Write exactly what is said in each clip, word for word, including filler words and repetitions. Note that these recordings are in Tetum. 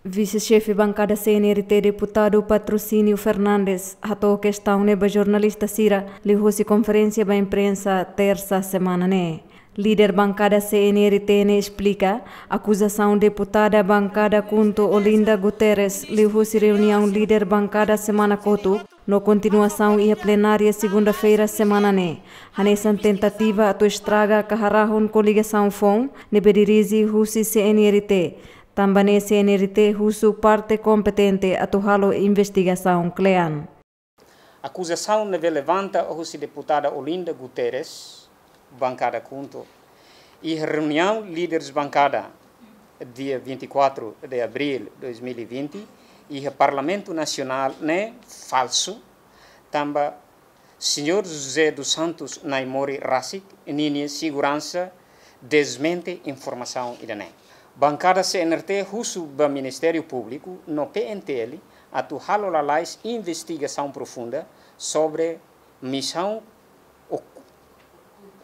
Vise-Xefe Bankada C N R T, Deputadu Patrocínio Fernandes, hato'o kestaun ne'e ba jornalista sira liuhusi konferénsia ba imprensa Tersa semana ne'e. Líder Bankada C N R T ne'e esplika akuzasaun Deputada Bankada KHUNTO Olinda Guterres liuhusi reuniaun líder bankada semana kotuk no kontinuasaun iha plenária segunda-feira semana ne'e hanesan tentativa atu estraga ka harahun koligasaun foun ne'ebé dirije husi C N R T. Tanba ne'e C N R T husu parte kompetente atu halo investigasaun kle'an. Akuzasaun ne'ebé levanta husi Deputada Olinda Guterres, Bankada KHUNTO, iha reuniaun líderes bankada, dia vinte e quatro de abril dois mil e vinte, iha Parlamentu Nasionál ne'e falsu, tanba Señór José dos Santos Naimori rasik ninia seguransa desmente informasaun ida-ne'e. Bankada C N R T husu ba Ministériu Públiku no P N T L atu halo lalais investigasaun profunda sobre misaun ok-,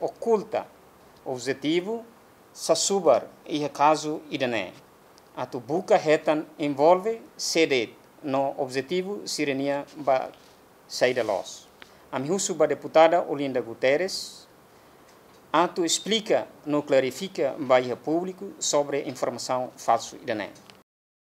okulta, objetivu sasubar iha kazu ida-ne'e, atu buka hetan envolve sé de'it no objetivu sira-nia ba saida loos. Ami husu ba Deputada Olinda Guterres atu esplika no klarifika ba iha públiku sobre informasaun falsu ida-ne'e.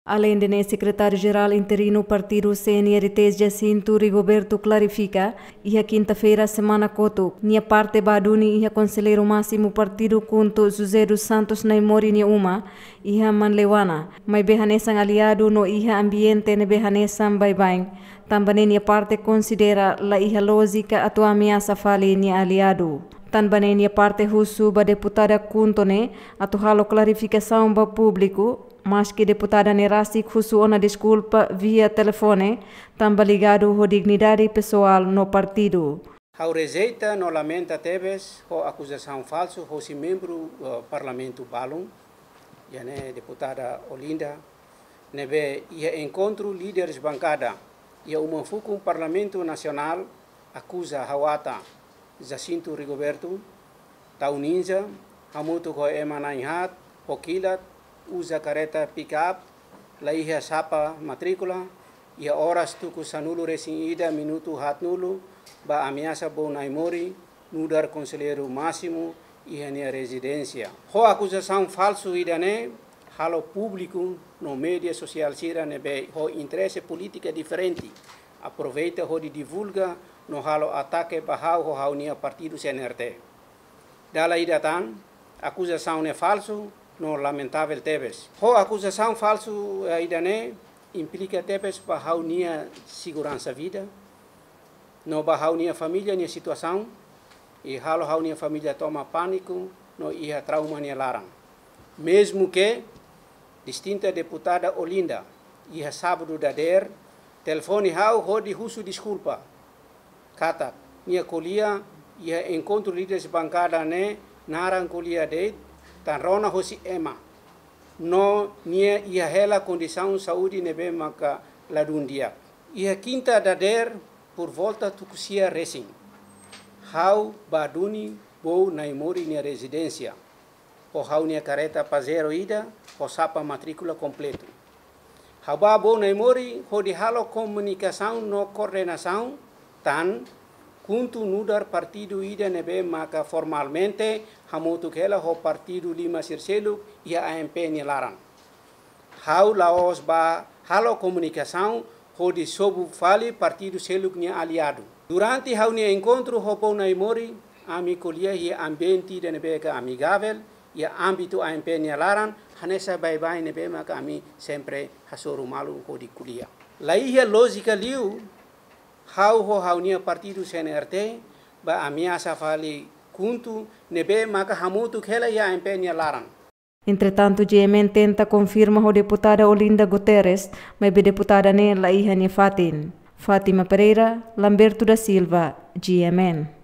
Aleinde ne'e, Sekretáriu-Jerál Interinu Partidu C N R T, Jacinto Rigoberto, klarifika iha kinta-feira semana kotuk nia parte ba duni iha Konselleiru Másimu Partidu KHUNTO, José dos Santos Naimori, nia uma iha Manleuana, maibé hanesan aliadu no iha ambiente ne'ebé hanesan baibain. Tanba ne'e nia parte konsidera la iha lójika atu ameasa fali nia aliadu. Tanba ne'e nia parte husu ba Deputada KHUNTO ne'e atu halo klarifikasaun ba públiku, maski deputada ne'e rasik husu ona deskulpa via telefone, tanba ligadu ho dignidade pesoál no partidu. Ha'u rejeita no lamenta tebes ho akuzasaun falsu hosi membru, eh, Parlamentu balun, iha ne'e Deputada Olinda, ne'ebé iha enkontru líderes bankada iha uma fukun Parlamentu Nasionál, akuza ha'u atan Jacinto Rigoberto, tau ninja, hamutuk ho ema na'in haat, ho kilat, uza kareta pick-up, la iha sapa matríkula, iha oras tuku sanulu-resin-ida minutu haatnulu, ba ameasa Boun Naimori, nu'udar Konselleiru Másimu iha nia rezidénsia. Ho akuzasaun falsu ida-ne'e, halo públiku no média sosiál sira ne'ebé ho interese polítika diferente aproveita hodi divulga no halo atake ba ha'u ho ha'u-nia partidu C N R T. Dala ida tan, akuzasaun ne'e falsu no lamentavel tebes. Ho akuzasaun falsu, eh, ida-ne'e implika tebes ba ha'u-nia seguransa vida, no ba ha'u-nia família nia situasaun, i halo ha'u-nia família toma pániku no iha trauma nia laran. Mezmu ke distinta Deputada Olinda, iha sábadu dadeer, telefone ha'u hodi husu deskulpa katak nia ko'alia iha enkontru líderes bankada ne'e naran ko'alia de'it, tan rona hosi ema, no nia iha hela kondisaun saúde ne'ebé maka ladún di'ak. Iha kinta dadeer, por volta tuku sia resin, ha'u ba duni Boun Naimori nia rezidénsia ho ha'u-nia kareta Pajero ida ho sapa matríkula kompletu. Ha'u ba Boun Naimori hodi halo komunikasaun no koordenasaun, tan KHUNTO nu'udar partidu ida ne'ebé maka formalmente hamutuk hela ho partidu lima sira seluk iha A M P nia laran. Ha'u la'ós ba halo komunikasaun hodi sobu fali partidu seluk nia aliadu. Durante ha'u-nia enkontru ho Boun Naimori, ami ko'alia iha ambiente ida ne'ebé ke amigavel, iha ámbitu A M P nia laran, hanesan baibain ne'ebé maka ami sempre hasoru malu hodi ko'alia. La iha lójika liu ha'u ho ha'u-nia partidu C N R T ba ameasa fali KHUNTO ne'ebé maka hamutuk hela iha A M P nia laran. Entretantu, G M N tenta konfirma ho Deputada Olinda Guterres, maibé deputada ne'e la iha nia fatin. Fátima Pereira, Lamberto da Silva, G M N.